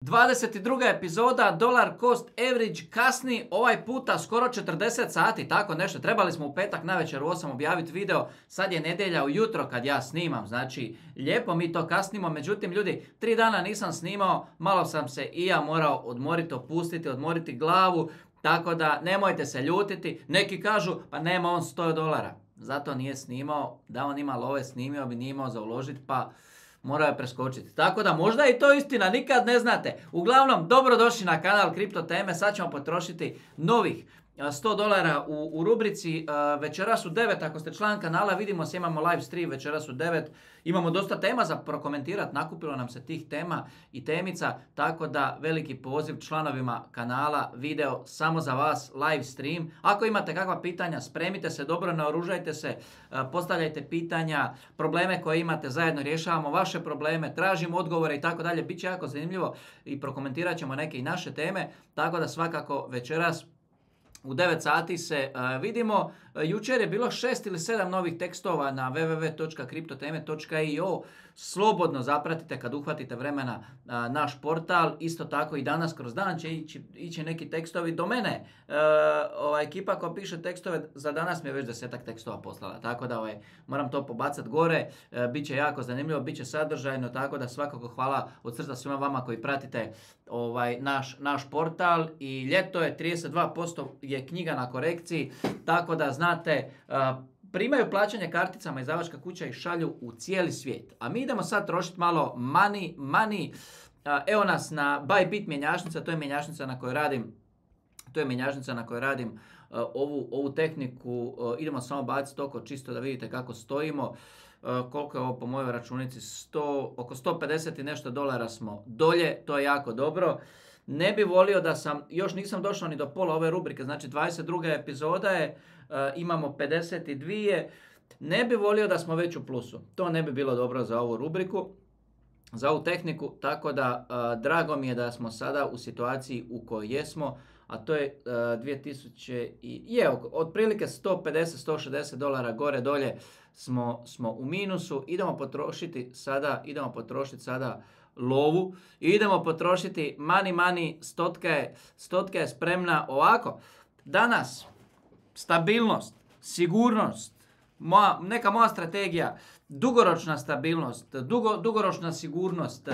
22. epizoda Dollar Cost Average kasni ovaj puta skoro 40 sati, tako nešto. Trebali smo u petak navečer u 8 objaviti video, sad je nedjelja ujutro kad ja snimam, znači lijepo mi to kasnimo. Međutim ljudi, 3 dana nisam snimao, malo sam se i ja morao odmoriti, opustiti, odmoriti glavu, tako da nemojte se ljutiti. Neki kažu pa nema on $100, zato nije snimao, da on ima love snimio bi, nije imao za uložiti pa morao je preskočiti. Tako da možda i to istina, nikad ne znate. Uglavnom, dobrodošli na kanal Kripto teme. Sad ćemo potrošiti novih $100 u rubrici večeras u 9. Ako ste član kanala, vidimo se, imamo live stream večeras u 9. Imamo dosta tema za prokomentirati, nakupilo nam se tih tema i temica, tako da veliki poziv članovima kanala, video samo za vas, live stream. Ako imate kakva pitanja, spremite se dobro, naoružajte se, postavljajte pitanja, probleme koje imate, zajedno rješavamo vaše probleme, tražimo odgovore i tako dalje. Biće jako zanimljivo i prokomentirat ćemo neke i naše teme, tako da svakako večeras u 9 sati se vidimo. Jučer je bilo 6 ili 7 novih tekstova na www.kriptoteme.io. Slobodno zapratite kad uhvatite vremena naš portal. Isto tako i danas kroz dan će ići neki tekstovi do mene. Ekipa koja piše tekstove za danas mi je već 10-ak tekstova poslala. Tako da moram to pobacati gore. Biće jako zanimljivo, biće sadržajno. Tako da svakako hvala od srca svima vama koji pratite naš portal. I ljeto je 32% je knjiga na korekciji. Tako da znate, primaju plaćanje karticama izdavačka kuća i šalju u cijeli svijet. A mi idemo sad trošiti malo money. Evo nas na Bybit mjenjačnica, to je mjenjačnica na kojoj radim ovu tehniku. Idemo samo baciti oko čisto da vidite kako stojimo. Koliko je ovo po mojoj računici? Oko 150 i nešto dolara smo dolje, to je jako dobro. Ne bi volio da još nisam došao ni do pola ove rubrike, znači 22. epizoda je, imamo 52. Ne bi volio da smo već u plusu. To ne bi bilo dobro za ovu rubriku, za ovu tehniku, tako da drago mi je da smo sada u situaciji u kojoj jesmo, a to je 2000 otprilike $150-160 gore dolje smo u minusu. Idemo potrošiti sada lovu i idemo potrošiti money. Stotka je spremna ovako. Danas stabilnost, sigurnost, neka moja strategija, dugoročna stabilnost, dugoročna sigurnost.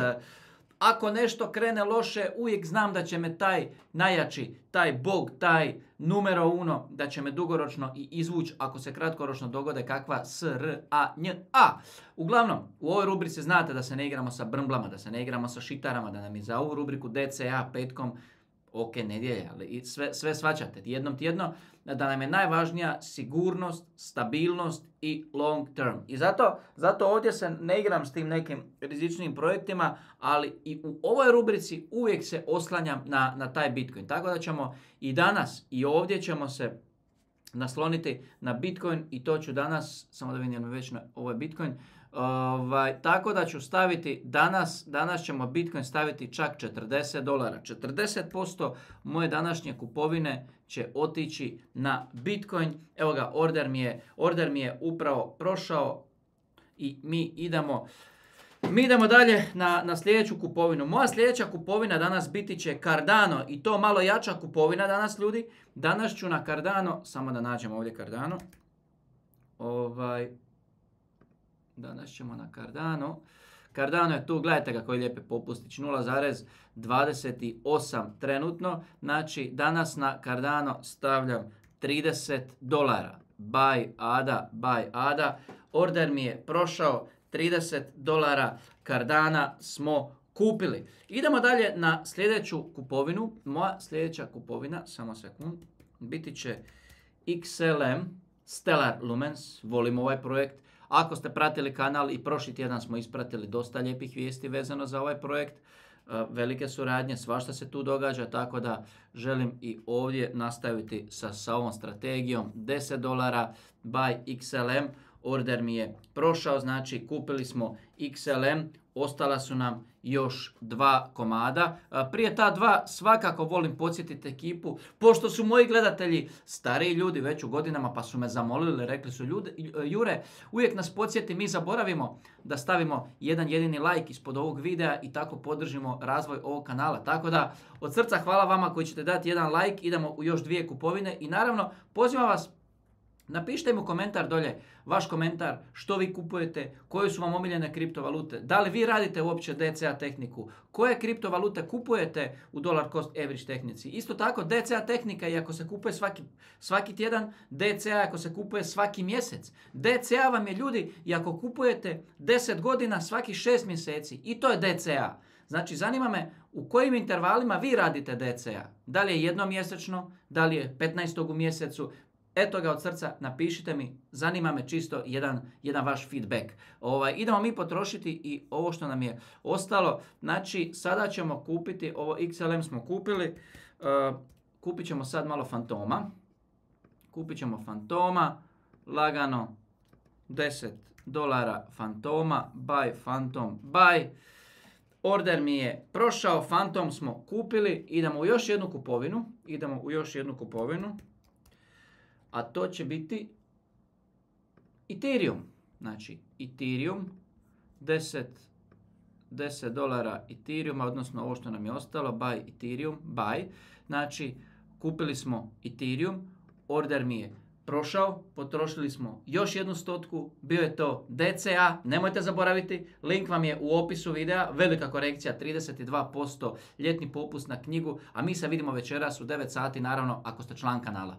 Ako nešto krene loše, uvijek znam da će me taj najjači, taj bog, taj numero uno, da će me dugoročno i izvući ako se kratkoročno dogode kakva SRANJA. Uglavnom, u ovoj rubrici znate da se ne igramo sa brmblama, da se ne igramo sa šitarama, da nam je za ovu rubriku DCA petkom ok, nedjelja, ali sve svačate jednom tjedno, da nam je najvažnija sigurnost, stabilnost i long term. I zato ovdje se ne igram s tim nekim rizičnim projektima, ali i u ovoj rubrici uvijek se oslanjam na taj Bitcoin. Tako da ćemo i danas i ovdje ćemo se nasloniti na Bitcoin i to ću danas, samo da vidim već na ovo je Bitcoin, tako da ću staviti danas ćemo Bitcoin staviti čak $40. 40% moje današnje kupovine će otići na Bitcoin. Evo ga, order mi je upravo prošao i mi idemo dalje na sljedeću kupovinu. Moja sljedeća kupovina danas biti će Cardano i to malo jača kupovina danas ljudi. Danas ću na Cardano, samo da nađemo ovdje Cardano. Danas ćemo na Cardano. Cardano je tu, gledajte ga koji lijepi popustić, 0,28 trenutno. Znači danas na Cardano stavljam $30. Buy ADA. Order mi je prošao, $30 Cardana smo kupili. Idemo dalje na sljedeću kupovinu. Moja sljedeća kupovina, samo sekund, biti će XLM, Stellar Lumens. Volim ovaj projekt. Ako ste pratili kanal i prošli tjedan smo ispratili dosta lijepih vijesti vezano za ovaj projekt. Velike suradnje, svašta se tu događa, tako da želim i ovdje nastaviti sa ovom strategijom $10 buy XLM. order mi je prošao, znači kupili smo XLM, ostala su nam još 2 komada. Prije ta 2 svakako volim podsjetiti ekipu, pošto su moji gledatelji stariji ljudi već u godinama, pa su me zamolili, rekli su Jure, uvijek nas podsjeti, mi zaboravimo da stavimo jedan jedini like ispod ovog videa i tako podržimo razvoj ovog kanala. Tako da od srca hvala vama koji ćete dati jedan like, idemo u još 2 kupovine i naravno pozivam vas, napišite mi u komentar dolje vaš komentar, što vi kupujete, koje su vam omiljene kriptovalute, da li vi radite uopće DCA tehniku, koje kriptovalute kupujete u dollar cost average tehnici. Isto tako DCA tehnika i ako se kupuje svaki tjedan, DCA ako se kupuje svaki mjesec. DCA vam je ljudi i ako kupujete 10 godina svaki 6 mjeseci i to je DCA. Znači zanima me u kojim intervalima vi radite DCA. Da li je jednomjesečno, da li je 15. u mjesecu. Eto ga od srca, napišite mi, zanima me čisto jedan vaš feedback. Idemo mi potrošiti i ovo što nam je ostalo. Znači, sada ćemo kupiti, ovo XLM smo kupili, kupit ćemo sad malo fantoma. Kupit ćemo fantoma, lagano, $10 fantoma, buy fantom, buy. Order mi je prošao, fantom smo kupili, idemo u još jednu kupovinu. A to će biti Ethereum. Znači, Ethereum, $10 Ethereuma, odnosno ovo što nam je ostalo, buy Ethereum, buy. Znači, kupili smo Ethereum, order mi je prošao, potrošili smo još 100, bio je to DCA, nemojte zaboraviti, link vam je u opisu videa, velika korekcija, 32%, ljetni popust na knjigu, a mi se vidimo večeras u 9 sati, naravno, ako ste član kanala.